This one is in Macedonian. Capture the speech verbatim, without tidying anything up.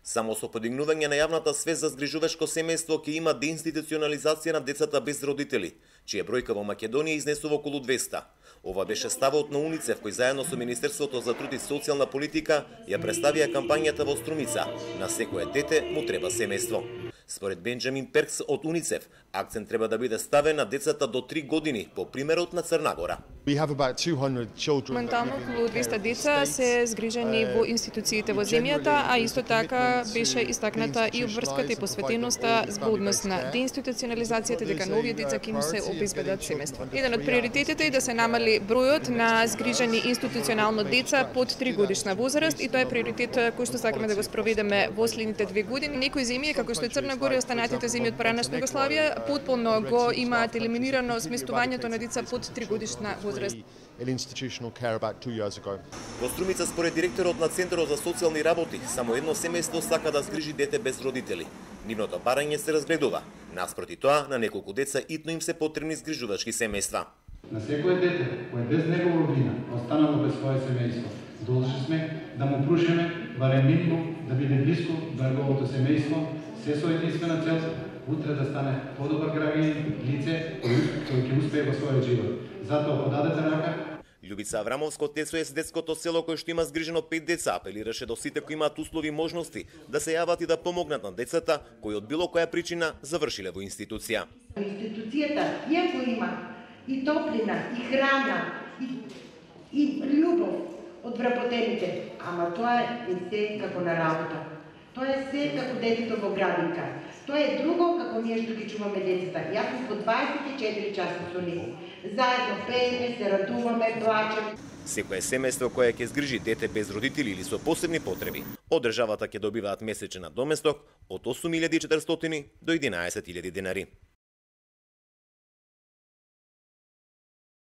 Само со подигнување на јавната свест за згрижувачко семејство ќе има деинституционализација на децата без родители, чија бројка во Македонија изнесува околу двеста. Ова беше ставот на УНИЦЕФ, кој заедно со Министерството за труд и социјална политика ја представија кампањата во Струмица "На секое дете му треба семејство". Според Бенџамин Перкс од УНИЦЕФ, акцент треба да биде ставен на децата до три години, по примерот на Црна Гора. Моментално околу двеста деца се згрижени во институциите во земјата, а исто така беше истакната и обврската и посветеноста во однос на деинституционализацијата, дека нови деца ќе им се обезбедат семејство. Еден од приоритетите е да се намали бројот на згрижени институционално деца под три годишна возраст, и тоа е приоритет кој што сакаме да го спроведеме во следните две години. Некои земји, како што е Црна Гора и останатите земји од поранешна Југославија, потполно го имаат елиминирано сместувањето на деца под три годишна возраст. Во Струмица, според директорот на Центарот за социјални работи, само едно семејство сака да згрижи дете без родители. Нивното барање се разгледува. Наспроти тоа, на неколку деца итно им се потребни згрижувачки семејства. На секое дете кој без негова вина останало без свое семејство, должни сме да му прушиме барем минимум да биде блиску до неговото семејство, се со единствена цел утре да стане подобар граѓанин, лице кој ќе успее во својот живот. Затоа подадете рака. Љубица Аврамовска од ТСОС детското село, кој што има згрижено пет деца, апелираше до сите кои имаат услови и можности да се јават и да помогнат на децата кои од било која причина завршиле во институција. Институцијата, иако има и топлина, и храна, и, и љубов од вработените, ама тоа е се како на работа. Тоа е се како детето во градинка. Тоа е друго како ние што ги чуваме децата. Јас по дваесет и четири часа со нив. Заедно пееме, се радуваме, плачеме. Секое семејство кое ќе згрижи дете без родители или со посебни потреби, од државата ќе добиваат месечен надоместок од осум илјади и четиристотини до единаесет илјади денари.